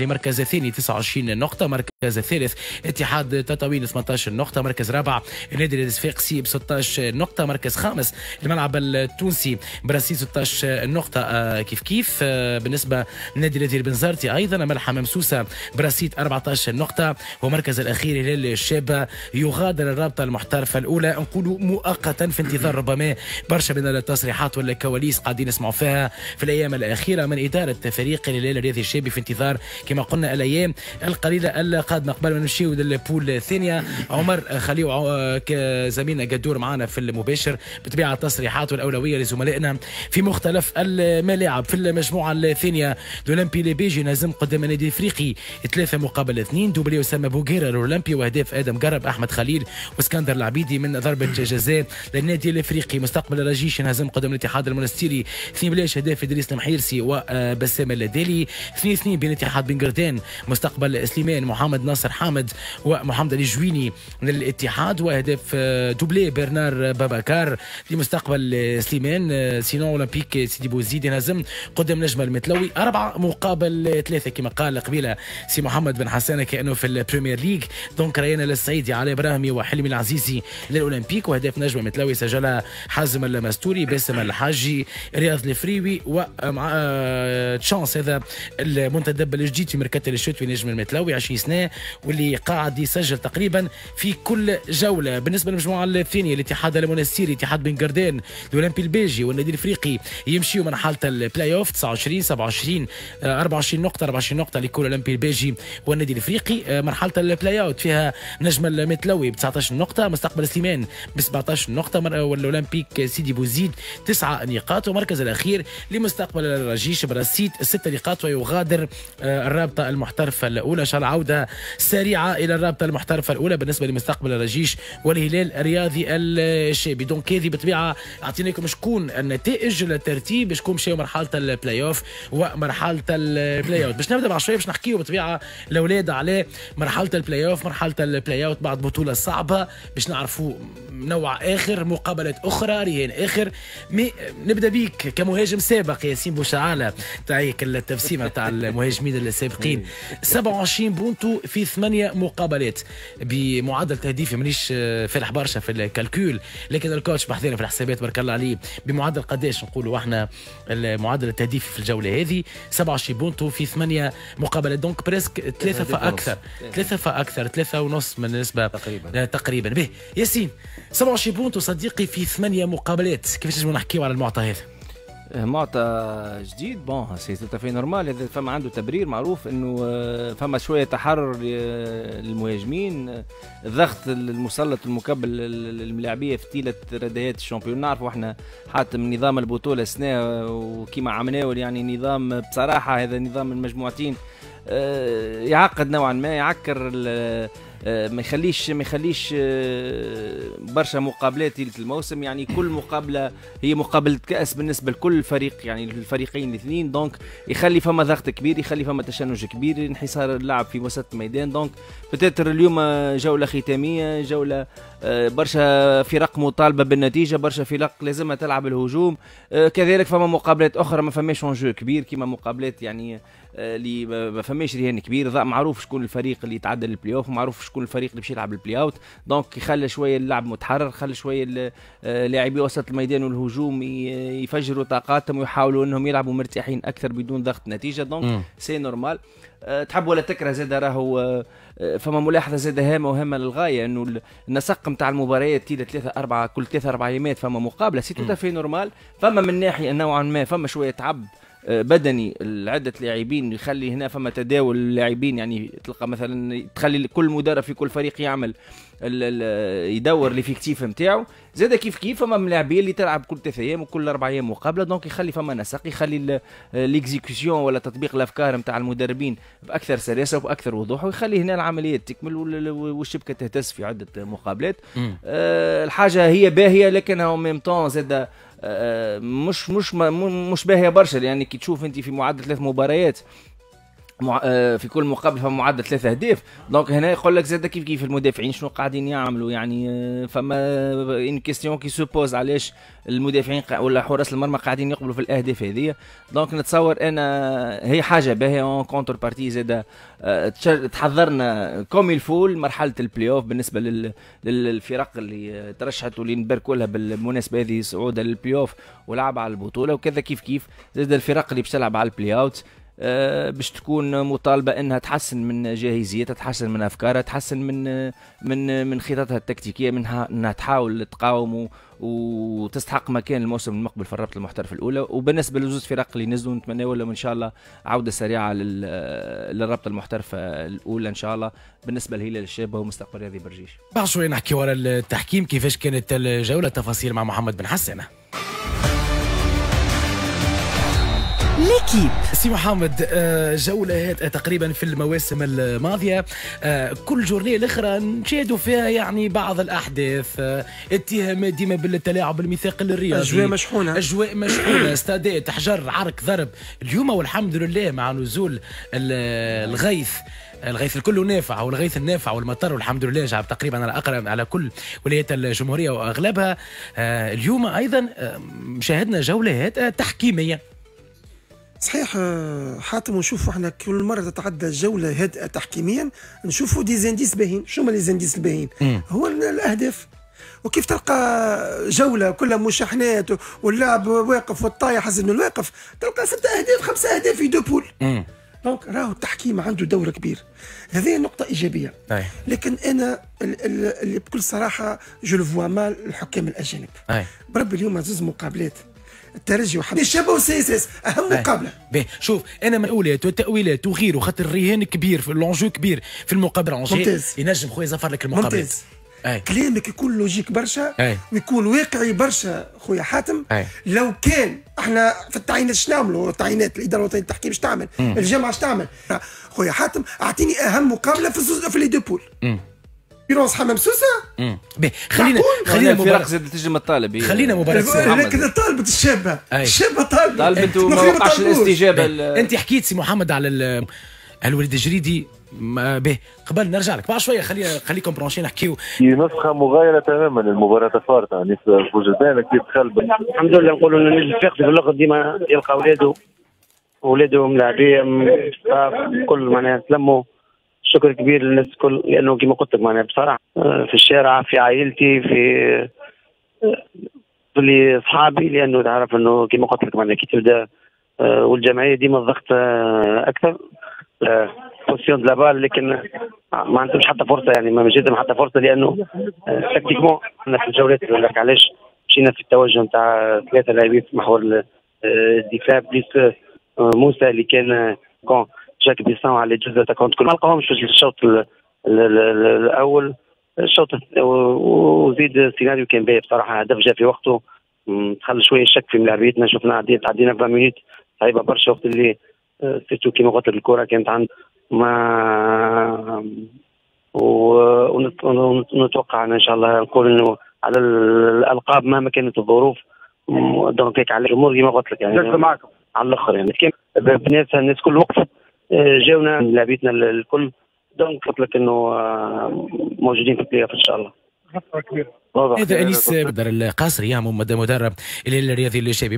مركز ثاني 29 نقطة، مركز الثالث اتحاد تطاوين 18 نقطة، مركز رابع النادي الصفاقسي ب 16 نقطة، مركز خامس الملعب التونسي برصيد 16 نقطة كيف كيف بالنسبة للنادي النادي البنزرتي أيضا ملحمة مسوسة برصيد 14 نقطة، ومركز الأخير هلال الشابة يغادر الرابطة المحترفة الأولى، نقول مؤقتا في انتظار ربما برشا من التصريحات والكواليس قاعدين نسمعوا فيها في الأيام الأخيرة من إدارة فريق الهلال الرياضي الشابي، في انتظار كما قلنا الأيام القليلة القادمة. قبل ما نمشيو لل poule الثانية عمر، خليو زميلنا قدور معنا في المباشر، بطبيعة التصريحات والأولوية لزملائنا في مختلف الملاعب. في المجموعة الثانية الأولمبي الباجي انهزم قدام النادي الافريقي 3-2، doublé أسامة بوغيرة الأولمبي وأهداف آدم قرب، أحمد خليل واسكندر العبيدي من ضربة جزاء للنادي الافريقي. مستقبل الرجيش انهزم قدام الاتحاد المونستيري 2-0، أهداف إدريس المحيرسي وبسام اللدالي. 2-2 بين اتحاد بن قردان مستقبل سليمان، محمد ناصر حامد ومحمد علي جويني من الاتحاد، واهداف doublé برنار باباكار لمستقبل سليمان. sinon اولمبيك سيدي بوزيد انهزم قدام نجم المتلوي 4-3 كما قال قبيلة سي محمد بن حسانه كانه في ال Premier League. donc ريان السعيدي، علي ابراهيمي وحلمي العزيزي للاولمبيك، واهداف نجم المتلوي سجلها حازم المستوري، باسم الحاجي، رياض الفريوي ومع تشانس هذا المنتدب الجديد في مركز الشتوي نجم المتلوي 20 سنة واللي قاعد يسجل تقريبا في كل جولة. بالنسبة للمجموعة الثانية الاتحاد المونستيري، اتحاد بن قردان، الاولمبي الباجي والنادي الافريقي يمشيوا مرحلة البلاي اوف 29 27 24 نقطة، 24 نقطة لكل الاولمبي الباجي والنادي الافريقي. مرحلة ال play-out فيها نجم المتلوي ب 19 نقطة، مستقبل سليمان ب 17 نقطة، والاولمبيك سيدي بوزيد 9 نقاط، ومركز الاخير لمستقبل الرجيش برصيد 6 نقاط ويغادر الرابطة المحترفه الاولى. ان شاء الله عوده سريعة الى الرابطة المحترفه الاولى بالنسبة لمستقبل الرجيش والهلال الرياضي الشابي. donc هذه بالطبيعة اعطيناكم شكون النتائج، الترتيب، شكون مشاو مرحلة البلاي اوف ومرحلة ال play-out. باش نبدا مع شوية باش نحكيو بالطبيعة الاولاد على مرحلة البلاي اوف، مرحلة ال play-out بعد بطوله صعبة، باش نعرفوا نوع اخر، مقابلات اخرى، رهان اخر. mais نبدا بيك كمهاجم سابق ياسين بوشعاله، تاعيك التبسيمه تاع المهاجمين السابقين. 27 بونتو في 8 مقابلات بمعدل تهديفي، مانيش فالح برشا في ال calcul لكن ال coach بحذانا في الحسابات بارك الله عليه، بمعدل قداش نقولوا احنا المعدل التهديفي في الجولة هذه؟ 27 بونتو في 8 مقابلات، donc presque 3 فاكثر، 3 فاكثر، 3.5 من النسبة تقريبا. تقريبا. به ياسين، 27 بونتو صديقي في 8 مقابلات، كيفاش نجموا نحكيو على المعطى هذا؟ معطى جديد، bon c'est tout à fait normal. هذا فما عنده تبرير معروف انه فما شوية تحرر للمهاجمين، الضغط المسلط المكبل للملاعبيه في طيلة ردهات ال championnat. نعرفوا احنا حاتم نظام البطولة السنة وكيما عملناه، يعني نظام بصراحة هذا نظام المجموعتين يعقد نوعا ما، يعكر، ما يخليش برشا مقابلات طيلة الموسم. يعني كل مقابله هي مقابله كاس بالنسبة لكل فريق، يعني الفريقين الاثنين، donc يخلي فما ضغط كبير، يخلي فما تشنج كبير، انحصار اللعب في وسط الميدان. donc peut-être اليوم جولة ختاميه، جولة برشا فرق مطالبه بالنتيجه، برشا فرق لازمها تلعب الهجوم. كذلك فما مقابلات اخرى ما فماش enjeu كبير، كيما مقابلات يعني اللي ما فماش رهان كبير، معروف شكون الفريق اللي يتعدى البلاي اوف، معروف شكون الفريق اللي باش يلعب ال play-out. donc يخلي شوية اللعب متحرر، خلي شوية لاعبي وسط الميدان والهجوم يفجروا طاقاتهم ويحاولوا انهم يلعبوا مرتاحين اكثر بدون ضغط نتيجه. donc c'est normal. تحب ولا تكره زاد راهو فما ملاحظة زاد هامة وهامه للغايه، انه النسق نتاع المباريات تيلا 3 4، كل 3 4 ايامات فما مقابله، c'est tout à fait normal. فما من ناحية نوعا ما فما شوية تعب بدني لعدة لاعبين، يخلي هنا فما تداول اللاعبين، يعني تلقى مثلا تخلي كل مدرب في كل فريق يعمل يدور l'effectif نتاعو. زاد كيف كيف فما ملاعبين اللي تلعب كل 3 ايام وكل 4 ايام مقابله، donc يخلي فما نسق، يخلي l'exécution ولا تطبيق الافكار نتاع المدربين باكثر سلاسة وباكثر وضوح، ويخلي هنا العملية تكمل والشبكة تهتز في عده مقابلات. الحاجة هي باهيه لكنها même temps زاد مش باهيه برشا، لان كي تشوف انت في معدل ثلاث مباريات في كل مقابله فما معدل 3 اهداف. donc هنا يقول لك زاد كيف كيف المدافعين شنو قاعدين يعملوا، يعني فما une question qui se pose علاش المدافعين ولا حراس المرمى قاعدين يقبلوا في الاهداف هذه. donc نتصور انا هي حاجة باهيه en contrepartie زاد تحضرنا comme il faut مرحلة البلاي اوف بالنسبة للفرق اللي ترشحت واللي نباركوا لها بالمناسبة هذه صعودها للبلاي اوف ولعب على البطولة، وكذا كيف كيف زاد الفرق اللي باش تلعب على ال play-out باش تكون مطالبه انها تحسن من جاهزيتها، تحسن من افكارها، تحسن من خططها التكتيكيه، منها انها تحاول تقاوم وتستحق مكان الموسم المقبل في الرابطة المحترفه الاولى. وبالنسبة لزوز فرق اللي نزلوا نتمنى لهم ان شاء الله عوده سريعة للرابطة المحترفه الاولى ان شاء الله، بالنسبة لهلال الشابة ومستقبل رياضي برجيش. بعد شوي نحكي ورا التحكيم كيفاش كانت الجولة، تفاصيل مع محمد بن حسن. L'équipe سي محمد، جولة تقريبا في المواسم الماضية كل journée الأخرى نشاهدوا فيها يعني بعض الأحداث، اتهامات ديما بالتلاعب بالميثاق الرياضي، أجواء مشحونة، أجواء مشحونة، استادات، حجر، عرك، ضرب. اليوم والحمد لله مع نزول الغيث، الغيث الكل نافع والغيث النافع والمطر والحمد لله جاب تقريبا على اقرب على كل ولايات الجمهورية واغلبها. اليوم ايضا شاهدنا جولات تحكيميه. صحيح حاتم، ونشوفوا احنا كل مرة تتعدى جولة هادئة تحكيميا نشوفوا des indices باهين. شو هما les indices الباهين؟ هو الاهداف، وكيف تلقى جولة كلها مشاحنات واللاعب واقف والطايح حسن انه الواقف، تلقى 6 اهداف 5 اهداف في deux poules. donc راهو التحكيم عنده دور كبير، هذه نقطة ايجابية. لكن انا اللي بكل صراحة je le vois mal الحكام الاجانب. بربي اليوم زوز مقابلات الترجي وحمام الشابة وال CSS اهم مقابله. باهي شوف انا مأولات وتأويلات وغيره، خاطر الرهان كبير في l'enjeu كبير في المقابلة، ممتاز ينجم خويا زفر لك المقابلات. ممتاز. كلامك يكون logique برشا ويكون واقعي برشا خويا حاتم. لو كان احنا في التعيينات اش نعملوا؟ التعيينات الادارة الوطنية للتحكيم اش تعمل؟ الجامعة اش تعمل؟ خويا حاتم اعطيني اهم مقابله في les deux poules. بيرونس حمام سوسة. خلينا الفرق زاد تنجم الطالب، خلينا مباراة، لكن طالبت الشابة، الشابة طالبت وما وقعش الاستجابة. انت حكيت سي محمد على الوليد الجريدي به، قبل نرجع لك بعد شوية، خليكم branchés نحكيو في نسخه مغايرة تماما للمباراة الفارطه، يعني بوجدان كيف دخل. الحمد لله نقولوا ان النادي الصفاقسي في الاخر ديما يلقى اولاده ملاعبيه staff كل معناها تلموا. شكر كبير للناس الكل، لانه كما قلت لك معناها بصراحة في الشارع، في عائلتي، في اصحابي، لانه تعرف انه كما قلت لك معناها كي تبدا والجمعية ديما الضغط اكثر possession de la balle، لكن ما عندهمش حتى فرصة، يعني ما جاتهم حتى فرصة، لانه tactiquement احنا في الجولات لك علاش مشينا في التوجه نتاع 3 لاعبين في محور الدفاع plus موسى اللي كان كون جاك بيسان على جزء تاع كل ما لقاهمش في الشوط الاول، الشوط وزيد السيناريو كان باهي بصراحة، هدف جا في وقته، دخل شوية شك في ملاعبيتنا، شفنا تعدينا 20 minutes صعيبة برشا وقت اللي surtout كيما قلت لك الكره كانت عند ما ونتوقع ان شاء الله نقول انه على الالقاب مهما كانت الظروف، donc هيك على الامور كيما قلت لك يعني معكم على الاخر، يعني بنات الناس كل وقفت جاونا لاعبيتنا الكل، donc قلت لك انه موجودين في البلاي اوف ان شاء الله. هذا انيس بدر القصري مدرب الهلال الرياضي الشابي.